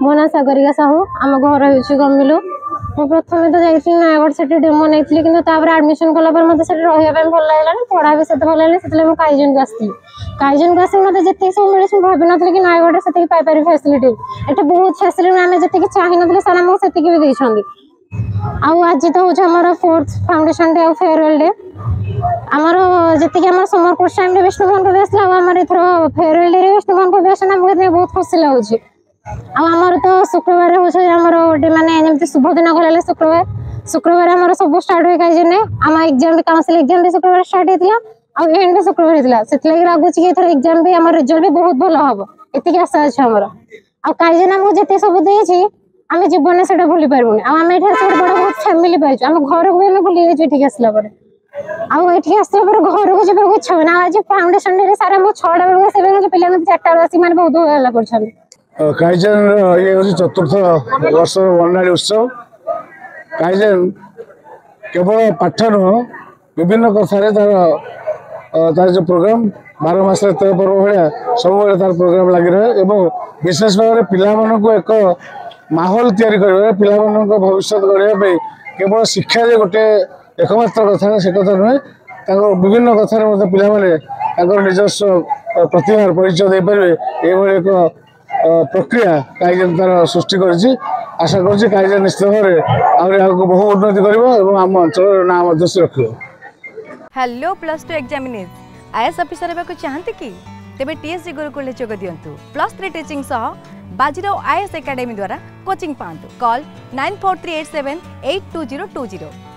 ମୋ ନାଁ ସାଗରିକା ସାହୁ, ଆମ ଘର ହେଉଛି ଗମିଲୁ। ମୁଁ ପ୍ରଥମେ ତ ଯାଇଥିଲି ନୟାଗଡ଼, ସେଠି ଡେମୋ ନେଇଥିଲି, କିନ୍ତୁ ତାପରେ ଆଡମିସନ କଲା ପରେ ମୋତେ ସେଠି ରହିବା ପାଇଁ ଭଲ ଲାଗିଲାନି, ପଢ଼ା ବି ସେତେ ଭଲ ଲାଗିଲାନି। ସେଥିଲାଗି ମୁଁ କାଇଜନକୁ ଆସିଥିଲି। କାଇଜନକୁ ଆସିକି ମୋତେ ଯେତିକି ସବୁ ମିଳିଛି, ମୁଁ ଭାବିନଥିଲି କି ନୟାଗଡ଼ରେ ସେତିକି ପାଇପାରିବି ଫ୍ୟାସିଲିଟି। ଏଠି ବହୁତ ଫ୍ୟାସିଲିଟି, ଆମେ ଯେତିକି ଚାହିଁନଥିଲେ ସାର୍ ଆମକୁ ସେତିକି ବି ଦେଇଛନ୍ତି। ଆଉ ଆଜି ତ ହେଉଛି ଆମର ଫୋର୍ଥ ଫାଉଣ୍ଡେସନ ଡେ ଆଉ ଫେୟାରୱେଲ୍ ଡେ। ଆମର ଯେତିକି ଆମର ସମର କୋର୍ସ ଟାଇମ୍ରେ ବିଷ୍ଣୁମୋହନ କବି ଆସିଲା, ଆଉ ଆମର ଏଥର ଫେୟାରୱେଲ୍ ଡେରେ ବିଷ୍ଣୁମୋହନ କବି ଆସିଲା, ଆମକୁ ଏଥିପାଇଁ ବହୁତ ଖୁସି ଲାଗୁଛି। ଆଉ ଆମର ତ ଶୁକ୍ରବାର ହେଉଛି ଆମର ଗୋଟେ ମାନେ ଯେମିତି ଶୁଭ ଦିନ କହିଲେ ଶୁକ୍ରବାର। ଶୁକ୍ରବାର ଆମର ସବୁ ଷ୍ଟାର୍ଟ ହୁଏ କାଇଜନରେ। ଆମ ଏକ୍ଜାମ ବି, କାଉନସିଲ ଏକ୍ଜାମ ବି ଶୁକ୍ରବାର ଷ୍ଟାର୍ଟ ହେଇଥିଲା ଆଉ ଏଣ୍ଡ ବି ଶୁକ୍ରବାର ହେଇଥିଲା। ସେଥିଲାଗି ଲାଗୁଛି କି ଏଥର ଏକ୍ଜାମ ବି, ଆମର ରେଜଲ୍ଟ ବି ବହୁତ ଭଲ ହବ, ଏତିକି ଆଶା ଅଛି ଆମର। ଆଉ କାଇଜନ ଆମକୁ ଯେତିକି ସବୁ ଦେଇଛି, ଆମେ ଜୀବନରେ ସେଟା ଭୁଲି ପାରିବୁନି। ଆଉ ଆମେ ଏଠି ଆସି ଗୋଟେ ବଡ ବହୁତ ଫ୍ୟାମିଲି ପାଇଛୁ। ଆମ ଘରକୁ ବି ଆମେ ଭୁଲି ଯାଇଛୁ ଏଠିକି ଆସିଲା ପରେ। ଆଉ ଏଠିକି ଆସିଲା ପରେ ଘରକୁ ଯିବାକୁ ଇଚ୍ଛା ହୁଏନି। ଆଉ ଆଜି ଫାଉଣ୍ଡେସନ ଡେରେ ସାର୍ ଆମକୁ 6ଟା ବେଳକୁ ଆସିବେ, ପିଲାମାନେ 4ଟା ବେଳକୁ ଆସିକି ମାନେ ବହୁତ ହଲ୍ଲା କରୁଛନ୍ତି। କାଇଜେନର ଇଏ ହେଉଛି ଚତୁର୍ଥ ବର୍ଷର ବର୍ଣ୍ଣାଳୀ ଉତ୍ସବ। କାଇଜେନ କେବଳ ପାଠ ନୁହଁ, ବିଭିନ୍ନ କଥାରେ ତାର ଯେଉଁ ପ୍ରୋଗ୍ରାମ, 12 ମାସରେ 13 ପର୍ବ ଭଳିଆ ସବୁବେଳେ ତାର ପ୍ରୋଗ୍ରାମ ଲାଗି ରହେ ଏବଂ ବିଶେଷ ଭାବରେ ପିଲାମାନଙ୍କୁ ଏକ ମାହୋଲ ତିଆରି କରିବାରେ, ପିଲାମାନଙ୍କ ଭବିଷ୍ୟତ ଗଢ଼ିବା ପାଇଁ କେବଳ ଶିକ୍ଷା ଯେ ଗୋଟେ ଏକମାତ୍ର କଥା ସେ କଥା ନୁହେଁ, ତାଙ୍କ ବିଭିନ୍ନ କଥାରେ ମଧ୍ୟ ପିଲାମାନେ ତାଙ୍କର ନିଜସ୍ୱ ପ୍ରତିଭାର ପରିଚୟ ଦେଇପାରିବେ, ଏଇଭଳି ଏକ ପ୍ରକ୍ରିୟା କାଇଜେନ ତାର ସୃଷ୍ଟି କରିଛି। ଆଶା କରୁଛି କାଇଜେନ ନିଶ୍ଚିତ ଭାବରେ ଆହୁରି ଆଗକୁ ବହୁ ଉନ୍ନତି କରିବ ଏବଂ ଆମ ଅଞ୍ଚଳର ନାଁ ମଧ୍ୟ ସେ ରଖିବ। Hello plus two examinees, IAS officer ହେବାକୁ ଚାହାନ୍ତି କି? ତେବେ ଟିଏସ୍ଜି ଗୁରୁକୁଳରେ ଯୋଗ ଦିଅନ୍ତୁ। ପ୍ଲସ୍ ଥ୍ରୀ ଟିଚିଂ ସହ ବାଜିରାଉ ଆଇଏଏସ୍ ଏକାଡେମୀ ଦ୍ୱାରା କୋଚିଂ ପାଆନ୍ତୁ। କଲ୍ 9438782020।